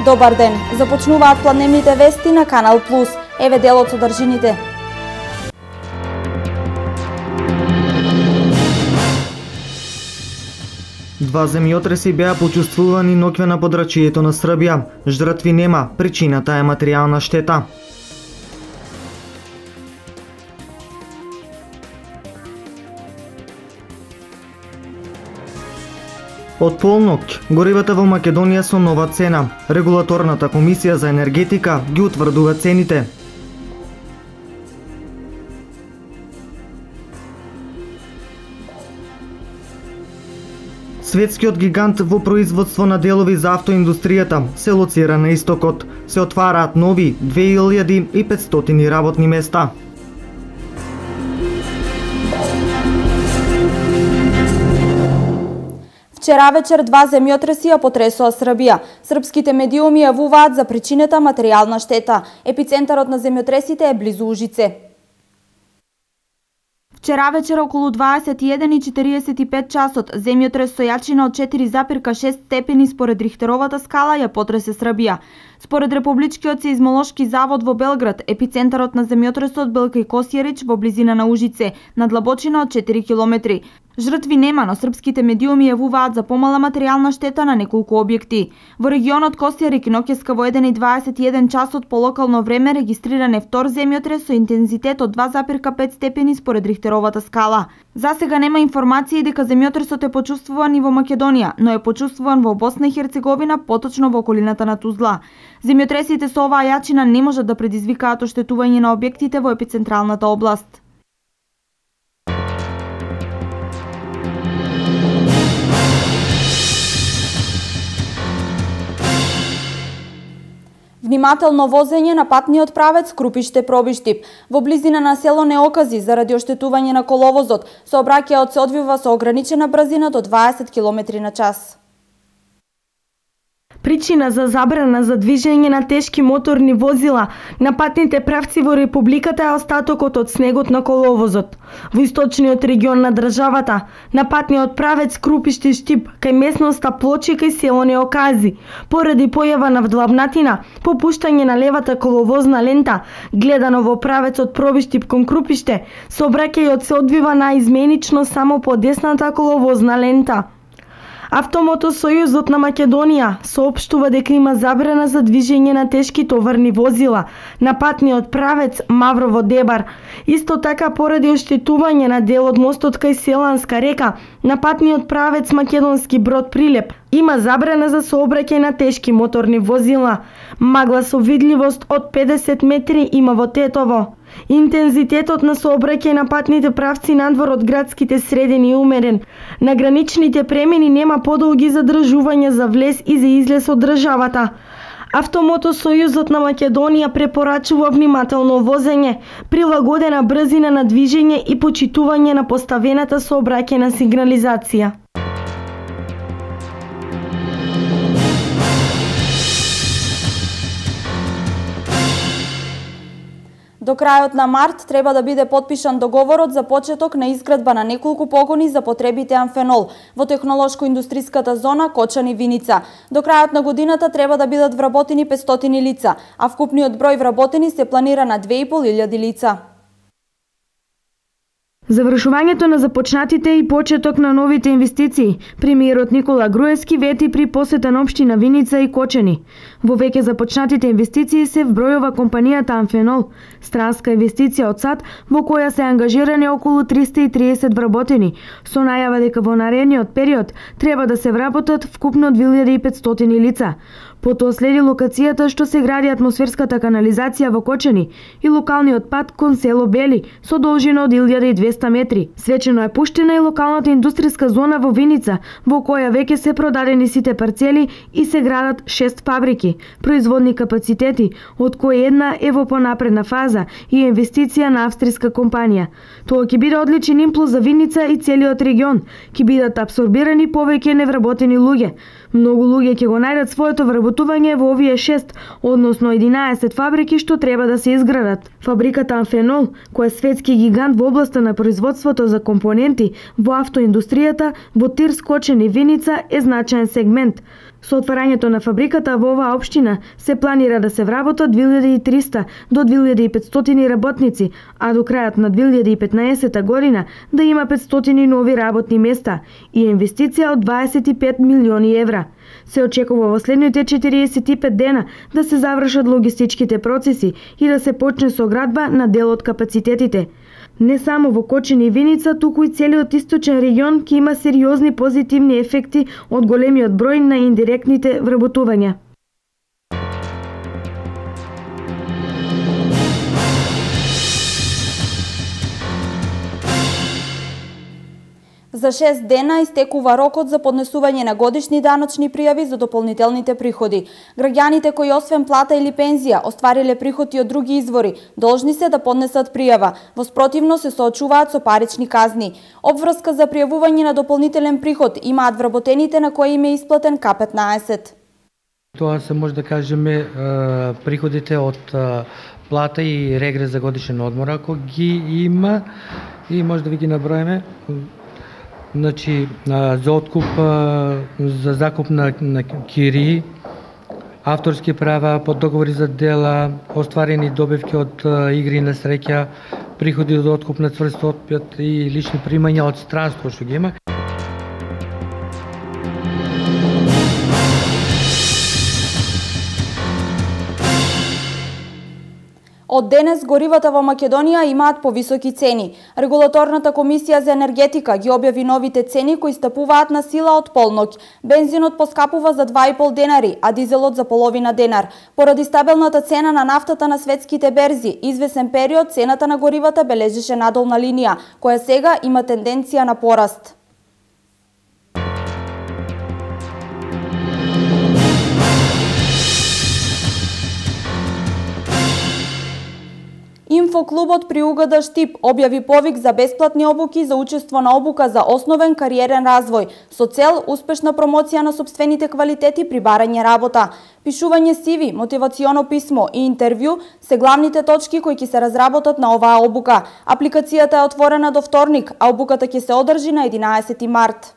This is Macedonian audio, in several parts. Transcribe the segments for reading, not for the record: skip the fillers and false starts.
Добар ден! Започнуваат пладневните вести на Канал Плюс. Еве дел од содржините. Два земјотреси беа почувствувани ноќве на подрачјето на Србија. Жртви нема, причината е материјална штета. Од полноќ, горивата во Македонија со нова цена. Регулаторната комисија за енергетика ги утврдува цените. Светскиот гигант во производство на делови за автоиндустријата се лоцира на истокот. Се отвараат нови 2500 работни места. Вчера вечер два земјотреси ја потресоа Србија. Српските медиуми јавуваат за причината материјална штета. Епицентарот на земјотресите е близу Ужице. Вчера вечер околу 21:45 часот земјотрес со јачина од 4,6 степени според Рихтеровата скала ја потресе Србија. Според Републичкиот сеизмолошки завод во Белград, епицентарот на земјотресот бил кај Косјерич во близина на Ужице, на длабочина од 4 километри. Жртви нема, но српските медиуми јавуваат за помала материјална штета на неколку објекти. Во регионот Косјерик ноќеска во 1:21 часот по локално време регистриран е втор земјотрес со интензитет од 2,5 степени според Рихтеровата скала. Засега нема информации дека земјотресот е почувствуван и во Македонија, но е почувствуван во Босна и Херцеговина, поточно во околината на Тузла. Земјотресите со оваа јачина не можат да предизвикаат оштетување на објектите во епицентралната област. Внимателно возење на патниот правец Крупиште-Пробиштип. Во близина на село Неокази, заради оштетување на коловозот, сообраќајот се одвива со ограничена брзина до 20 км на час. Причина за забрана за движење на тешки моторни возила на патните правци во Републиката е остатокот од снегот на коловозот. Во источниот регион на државата, на патниот правец Крупиште-Штип, кај местноста Плочи кај село Неокази, поради појава на вдлабнатина, попуштање на левата коловозна лента, гледано во правецот Пробиштип кон Крупиште, сообраќајот се одвива наизменично само по десната коловозна лента. Автомотосојузот на Македонија соопштува дека има забрана за движење на тешки товарни возила на патниот правец Маврово-Дебар. Исто така поради оштетување на дел од мостот кај Селанска река на патниот правец Македонски Брод-Прилеп има забрана за сообраќај на тешки моторни возила. Магла со видливост од 50 метри има во Тетово. Интензитетот на сообраќај на патните правци надвор од градските средини е умерен. На граничните премини нема подолги задржувања за влез и за излез од државата. Автомотосојузот на Македонија препорачува внимателно возење, прилагодена брзина на движење и почитување на поставената сообраќајна сигнализација. До крајот на март треба да биде потпишан договорот за почеток на изградба на неколку погони за потребите амфенол во технолошко-индустриската зона Кочани-Виница. До крајот на годината треба да бидат вработени 500 лица, а вкупниот број вработени се планира на 2500 лица. Завршувањето на започнатите и почеток на новите инвестиции, премиерот Никола Груевски вети при посета на општина Виница и Кочани. Во веќе започнатите инвестиции се вбројува компанијата Амфенол, странска инвестиција од САД во која се ангажирани околу 330 вработени, со најава дека во наредниот период треба да се вработат вкупно 2500 лица. Потоа следи локацијата што се гради атмосферската канализација во Кочани и локалниот пат кон село Бели со должина од 1200 метри. Свечено е пуштена и локалната индустријска зона во Виница, во која веќе се продадени сите парцели и се градат 6 фабрики, производни капацитети, од кои една е во понапредна фаза и инвестиција на австријска компанија. Тоа ќе биде одличен импулс за Виница и целиот регион, ќе бидат апсорбирани повеќе невработени луѓе. Многу луѓе ќе го најдат своето вработување во овие 6, односно 11 фабрики што треба да се изградат. Фабриката Амфенол, која е светски гигант во областа на производството за компоненти во автоиндустријата во Тирс, Кочани и Виница е значаен сегмент. Со отварањето на фабриката во оваа општина се планира да се вработат 2300 до 2500 работници, а до крајот на 2015 година да има 500 нови работни места и инвестиција од 25 милиони евра. Се очекува во следните 45 дена да се завршат логистичките процеси и да се почне со градба на дел од капацитетите. Не само во Кочани и Виница, туку и целиот источен регион ќе има сериозни позитивни ефекти од големиот број на индиректните вработувања. За 6 дена истекува рокот за поднесување на годишни даночни пријави за дополнителните приходи. Граѓаните кои освен плата или пензија оствариле приходи од други извори, должни се да поднесат пријава. Во спротивно се соочуваат со парични казни. Обврска за пријавување на дополнителен приход имаат вработените на кои им е исплатен К15. Тоа се може да кажеме приходите од плата и регрес за годишен одмор, ако ги има, и може да ви ги наброиме. Значи, за откуп, за закуп на кирии, авторски права, под договори за дела, остварени добивки од игри на среќа, приходи од откуп на цврст отпет и лични примања од странство што ги има. Од денес горивата во Македонија имаат повисоки цени. Регулаторната комисија за енергетика ги објави новите цени кои стапуваат на сила од полноќ. Бензинот поскапува за 2,5 денари, а дизелот за половина денар. Поради стабилната цена на нафтата на светските берзи, извесен период цената на горивата бележеше надолна линија, која сега има тенденција на пораст. Инфоклубот при УГД Штип објави повик за бесплатни обуки за учество на обука за основен кариерен развој, со цел успешна промоција на сопствените квалитети при барање работа. Пишување CV, мотивационо писмо и интервју се главните точки кои ќе се разработат на оваа обука. Апликацијата е отворена до вторник, а обуката ќе се одржи на 11 март.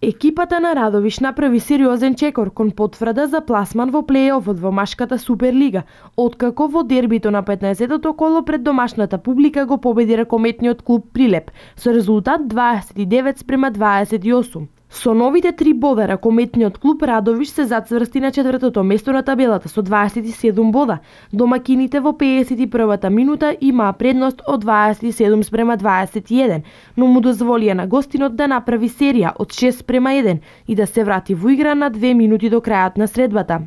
Екипата на Радовиш направи сериозен чекор кон потврда за пласман во плејофот во машката Суперлига, откако во дербито на 15-тото коло пред домашната публика го победи ракометниот клуб Прилеп со резултат 29-28. Со новите 3 бода ракометниот клуб Радовиш се зацврсти на 4-тото место на табелата со 27 бода. Домакините во 51-та минута имаа предност од 27-21, но му дозволија на гостинот да направи серија од 6-1 и да се врати во игра на 2 минути до крајот на средбата.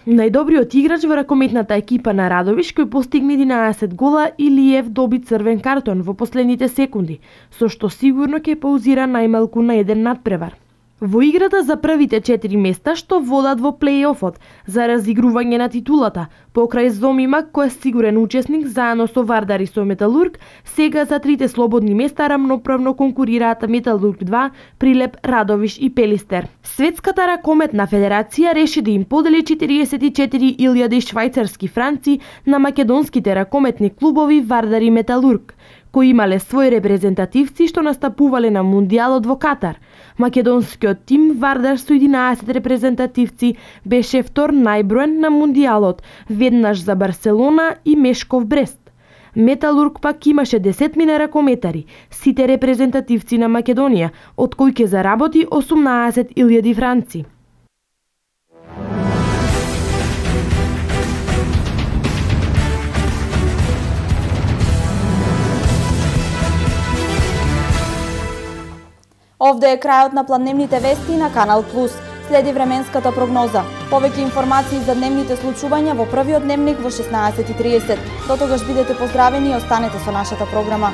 Најдобриот играч во ракометната екипа на Радовиш, кој постигна 11 гола, Илиев доби црвен картон во последните секунди, со што сигурно ќе паузира најмалку на еден надпревар. Во играта за првите 4 места што водат во плејофот за разигрување на титулата, покрај Зомимак кој е сигурен учесник заедно со Вардар и со Металург, сега за трите слободни места рамноправно конкурираат Металург 2, Прилеп, Радовиш и Пелистер. Светската ракометна федерација реши да им подели 44.000 швајцарски франци на македонските ракометни клубови Вардар и Металург, кои имале своји репрезентативци што настапувале на Мундијалот во Катар. Македонскиот тим Вардар со 11 репрезентативци беше втор најброен на Мундијалот, веднаш за Барселона и Мешков Брест. Металург пак имаше 10 ракометари, сите репрезентативци на Македонија, од кои ќе заработи 18.000 франци. Овде е крајот на планедневните вести на Канал Плюс. Следи временската прогноза. Повеќе информации за дневните случувања во првиот дневник во 16:30. До тогаш бидете поздравени и останете со нашата програма.